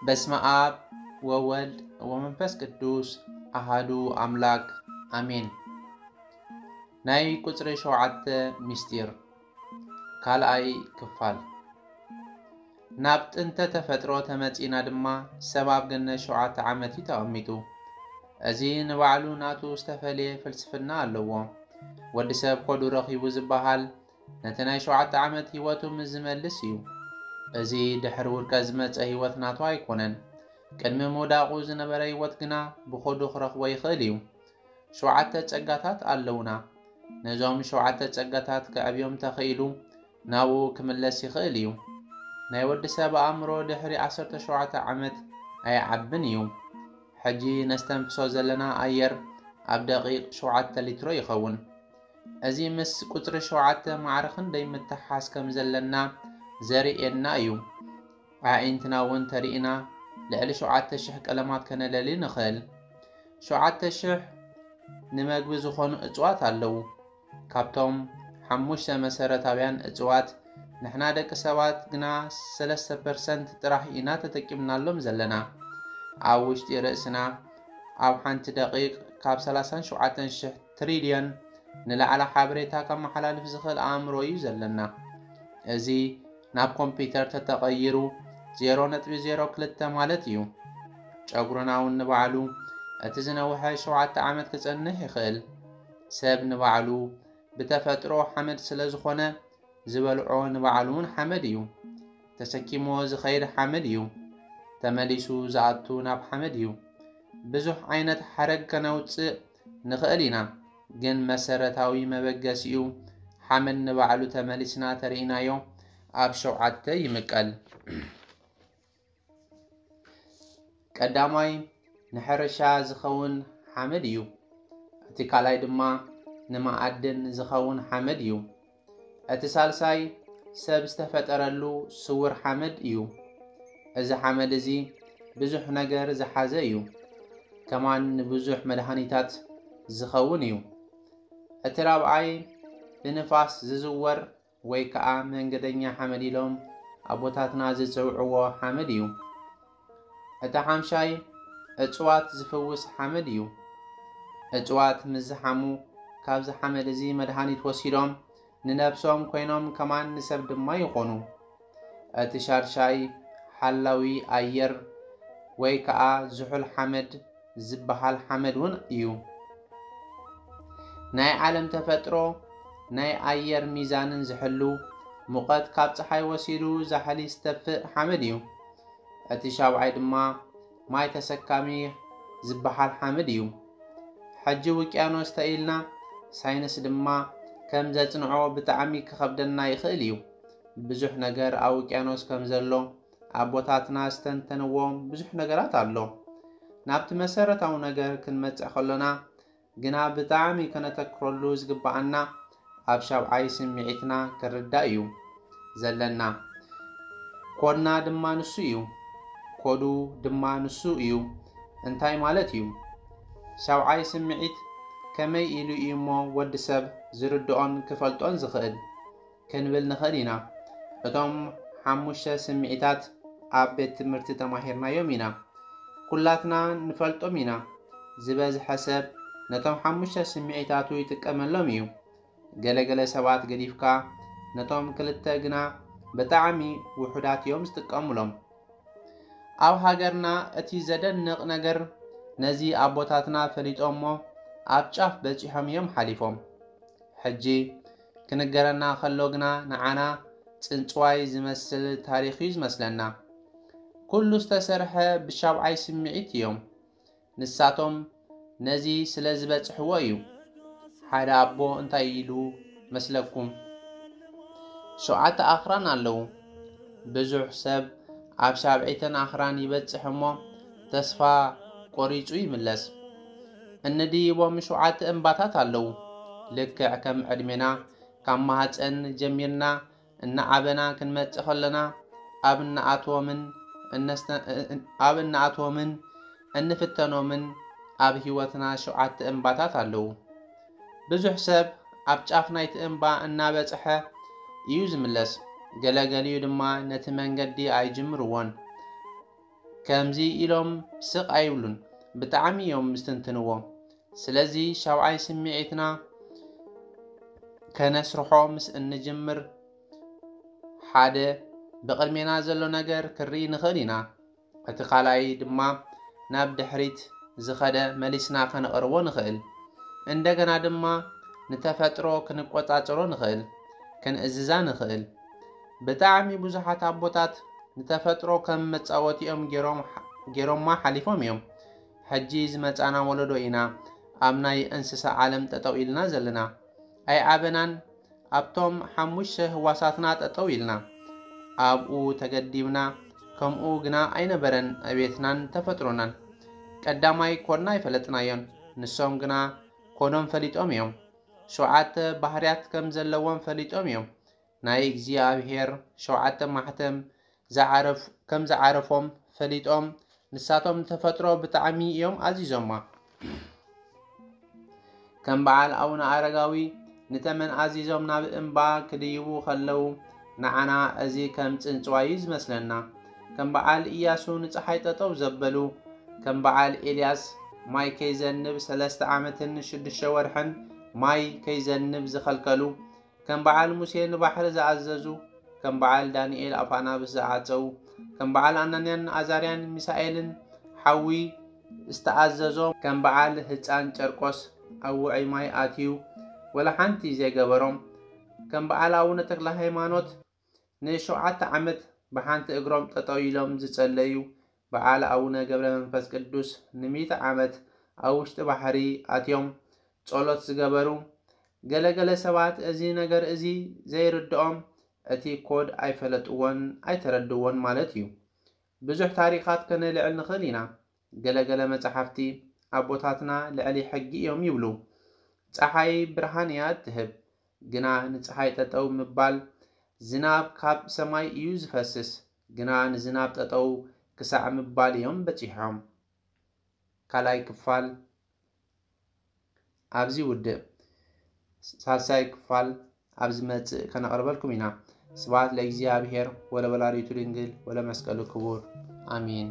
በስመ ኣብ ወወልድ ወመንፈስ ቅዱስ ኣሃዱ ኣምላክ ኣሜን። ናይ ቁጽሪ ሸውዓተ ምስጢር ካልኣይ ክፋል። ናብ ጥንተ ተፈጥሮ ተመጺና ድማ ሰብ ኣብ ገነት ሸውዓተ ዓመት እዩ ተቐሚጡ። እዚ ንባዕሉ ናቱ ዝተፈልየ ፍልስፍና ኣለዎ። ወዲ ሰብ ኮዱ ረኺቡ ዝበሃል ነቲ ናይ ሸውዓተ ዓመት ህይወቱ ምስ ዝመልስ እዩ። እዚ ድሕሪ ውድቀት ዝመጸ ህይወት ናቱ ኣይኮነን። ቅድሚ ምውዳቑ ዝነበረ ህይወት ግና ብኾዱ ክረኽቦ ይኽእል እዩ። ሸውዓተ ጸጋታት ኣለውና። ነዞም ሸውዓተ ጸጋታት ከዕብዮም ተኽኢሉ ናብኡ ክምለስ ይኽእል እዩ። ናይ ወዲ ሰብ ኣእምሮ ድሕሪ ዓሰርተ ሸውዓተ ዓመት ኣይዓብን እዩ። ሕጂ ነስተንፍሶ ዘለና ኣየር ኣብ ደቂቕ ሸውዓተ ሊትሮ ይኸውን። እዚ ምስ ቁጽሪ ሸውዓተ ማዕረ ክንደይ ምትሓዝ ከም ዘለና ዘርእየና እዩ። ኣዒንትና እውን ተሪእና ልዕሊ ሸውዓተ ሽሕ ቀለማት ከነለሊ ንኽእል። ሸውዓተ ሽሕ ንመግቢ ዝኾኑ እጽዋት ኣለዉ። ካብቶም ሓሙሽተ መሰረታውያን እጽዋት ንሕና ደቂ ሰባት ግና ሰለስተ ፐርሰንት ጥራሕ ኢና ተጠቂምናሎም ዘለና። ኣብ ውሽጢ ርእስና ኣብ ሓንቲ ደቂቕ ካብ ሰላሳን ሸውዓተን ሽሕ ትሪልዮን ንላዕሊ ሓበሬታ ከመሓላልፍ ዝኽእል ኣእምሮ እዩ ዘለና። እዚ ናብ ኮምፒውተር ተተቐይሩ ዜሮ ነጥቢ ዜሮ ክልተ ማለት እዩ። ጨጉርና እውን ንባዕሉ እቲ ዝነውሐ ሸውዓተ ዓመት ክጸንሕ ይኽእል። ሰብ ንባዕሉ ብተፈጥሮ ሓመድ ስለ ዝኾነ ዝበልዖ ንባዕሉ እውን ሓመድ እዩ። ተሰኪሞ ዝኸይድ ሓመድ እዩ። ተመሊሱ ዝኣቱ ናብ ሓመድ እዩ። ብዙሕ ዓይነት ሓረግ ከነውጽእ ንኽእል ኢና፣ ግን መሰረታዊ መበገሲኡ ሓመድ ንባዕሉ ተመሊስና ተሪኢናዮ ኣብ ሸውዓተ ይምቀል። ቀዳማይ ንሕርሻ ዝኸውን ሓመድ እዩ። እቲ ካልኣይ ድማ ንመኣድን ዝኸውን ሓመድ እዩ። እቲ ሳልሳይ ሰብ ዝተፈጠረሉ ስውር ሓመድ እዩ። እዚ ሓመድ እዚ ብዙሕ ነገር ዝሓዘ እዩ። ከማን ንብዙሕ መድሃኒታት ዝኸውን እዩ። እቲ ራብዓይ ብንፋስ ዝዝወር ወይ ከዓ መንገደኛ ሓመድ ኢሎም ኣቦታትና ዝፅውዕዎ ሓመድ እዩ። እቲ ሓምሻይ እፅዋት ዝፍውስ ሓመድ እዩ። እፅዋት ምስ ዝሓሙ ካብዚ ሓመድ እዚ መድሃኒት ወሲዶም ንነብሶም ኮይኖም ከማን ንሰብ ድማ ይኾኑ። እቲ ሻድሻይ ሓላዊ ኣየር ወይ ከዓ ዝሑል ሓመድ ዝበሃል ሓመድ እውን እዩ። ናይ ዓለም ተፈጥሮ ናይ ኣየር ሚዛንን ዝሕሉ፣ ሙቐት ካብ ፀሓይ ወሲዱ ዛሕሊ ዝተፍእ ሓመድ እዩ። እቲ ሻብዓይ ድማ ማይ ተሰካሚ ዝበሃል ሓመድ እዩ። ሕጂ ውቅያኖስ ተኢልና ሳይንስ ድማ ከም ዘጽንዖ ብጣዕሚ ክኸብደና ይኽእል እዩ። ብዙሕ ነገር ኣብ ውቅያኖስ ከም ዘሎ ኣቦታትና ዝተንተንዎ ብዙሕ ነገራት ኣሎ። ናብቲ መሰረታዊ ነገር ክንመጽእ ከሎና ግና ብጣዕሚ ከነተክረሉ ዝግብኣና ኣብ ሻብዓይ ስምዒትና ክርዳእ እዩ ዘለና። ኮድና ድማ ንሱ እዩ። ኮዱ ድማ ንሱ እዩ። እንታይ ማለት እዩ? ሻብዓይ ስምዒት ከመይ ኢሉ እዩ እሞ ወዲ ሰብ ዝርድኦን ክፈልጦን ዝኽእል? ክንብል ንኽእል ኢና። እቶም ሓሙሽተ ስምዒታት ኣብ ቤት ትምህርቲ ተማሂርናዮም ኢና። ኩላትና ንፈልጦም ኢና። ዝበዝሐ ሰብ ነቶም ሓሙሽተ ስምዒታቱ ይጥቀመሎም እዩ። ገለገለ ሰባት ገዲፍካ ነቶም ክልተ ግና ብጣዕሚ ውሑዳት እዮም ዝጥቀሙሎም። ኣብ ሃገርና እቲ ዘደንቕ ነገር ነዚ ኣቦታትና ፈሊጦሞ ኣብ ጫፍ በጺሖም እዮም ሓሊፎም። ሕጂ ክንገረና ከሎ ግና ንዓና ጽንጽዋይ ዝመስል ታሪኽ እዩ ዝመስለና። ኩሉ ዝተሰርሐ ብሻብዓይ ስምዒት እዮም። ንሳቶም ነዚ ስለ ዝበጽሕዎ እዩ። ሓደ ኣቦ እንታይ ኢሉ መስለኩም? ሸውዓተ ኣኽራን ኣለዉ። ብዙሕ ሰብ ኣብ ሻብዒተን ኣኽራን ይበጽሕ እሞ ተስፋ ቆሪጹ ይምለስ። እንድይቦም ሸውዓተ እምባታት ኣለዉ። ልክዕ ከም ዕድሜና ካብ ማህጸን ጀሚርና እናዓበና ክንመጽእ ከለና ኣብ እንኣትዎምን እነስተ-፣ ኣብ እንኣትዎምን እንፍተኖምን ኣብ ህይወትና ሸውዓተ እምባታት ኣለዉ። ብዙሕ ሰብ ኣብ ጫፍ ናይቲ እምባ እናበጽሐ እዩ ዝምለስ። ገለገሊኡ ድማ ነቲ መንገዲ ኣይጅምርዎን። ከምዚ ኢሎም ስቕ ኣይብሉን፣ ብጣዕሚ እዮም ምስትንትንዎ። ስለዚ ሻብዓይ ስምዒትና ከነስርሖ ምስ እንጅምር፣ ሓደ ብቕድሜና ዘሎ ነገር ክርኢ ንኽእል ኢና። እቲ ካልኣይ ድማ ናብ ድሕሪት ዝኸደ መሊስና ከነቕርቦ ንኽእል። እንደገና ድማ ንተፈጥሮ ክንቆጻጸሮ ንኽእል፣ ክንእዝዛ ንኽእል። ብጣዕሚ ብዙሓት ኣቦታት ንተፈጥሮ ከም መጻወቲኦም ገይሮም፣ ገይሮማ ሓሊፎም እዮም። ሕጂ ዝመጻና ወለዶ ኢና ኣብ ናይ እንስሳ ዓለም ጠጠው ኢልና ዘለና። ኣይዓበናን፣ ኣብቶም ሓሙሽተ ህዋሳትና ጠጠው ኢልና ኣብኡ ተገዲብና። ከምኡ ግና ኣይነበረን ዕቤትናን ተፈጥሮናን። ቀዳማይ ኮድና ኣይፈለጥናዮን፣ ንሶም ግና ኮዶም ፈሊጦም እዮም። ሸውዓተ ባህርያት ከም ዘለዎም ፈሊጦም እዮም። ናይ እግዚኣብሔር ሸውዓተ ማሕተም ዝዓረፍ-፣ ከም ዝዓረፎም ፈሊጦም፣ ንሳቶም ንተፈጥሮ ብጣዕሚ እዮም ኣዚዞማ። ከም በዓል ኣቡነ ኣረጋዊ ንተመን ኣዚዞም ናብ እምባ ክድይቡ ከለዉ፣ ንዓና እዚ ከም ጽንጽዋይ እዩ ዝመስለና። ከም በዓል ኢያሱ ንጸሓይ ጠጠው ዘበሉ፣ ከም በዓል ኤልያስ ማይ ከይዘንብ ሰለስተ ዓመትን ሽዱሽተ ወርሕን ማይ ከይዘንብ ዝኸልከሉ፣ ከም በዓል ሙሴ ንባሕሪ ዝኣዘዙ፣ ከም በዓል ዳንኤል ኣፍ ኣናብስ ዝዓጸዉ፣ ከም በዓል ኣናንያን ኣዛርያን ሚሳኤልን ሓዊ ዝተኣዘዞም፣ ከም በዓል ህጻን ጨርቆስ ኣብ ውዑይ ማይ ኣትዩ ወላ ሓንቲ ዘይገበሮም፣ ከም በዓል ኣቡነ ተክለ ሃይማኖት ንሸውዓተ ዓመት ብሓንቲ እግሮም ጠጠው ኢሎም ዝጸለዩ፣ በዓል ኣቡነ ገብረ መንፈስ ቅዱስ ንሚእቲ ዓመት ኣብ ውሽጢ ባሕሪ ኣትዮም ጸሎት ዝገበሩ፣ ገለ ገለ ሰባት እዚ ነገር እዚ ዘይርድኦም፣ እቲ ኮድ ኣይፈለጥዎን ኣይተረድዎን ማለት እዩ። ብዙሕ ታሪኻት ከነልዕል ንኽእል ኢና። ገለ ገለ መጻሕፍቲ ኣቦታትና ልዕሊ ሕጊ እዮም ይብሉ። ጸሓይ ብርሃን እያ እትህብ፣ ግና ንጸሓይ ጠጠው ምባል፣ ዝናብ ካብ ሰማይ እዩ ዝፈስስ፣ ግና ንዝናብ ጠጠው ክሳዕ ምባል እዮም በጺሖም። ካልኣይ ክፋል ኣብዚ ውድእ። ሳልሳይ ክፋል ኣብ ዝመጽእ ከነቕርበልኩም ኢና። ስብሐት ለእግዚኣብሔር ወለወላዲቱ ድንግል ወለመስቀሉ ክቡር። ኣሜን።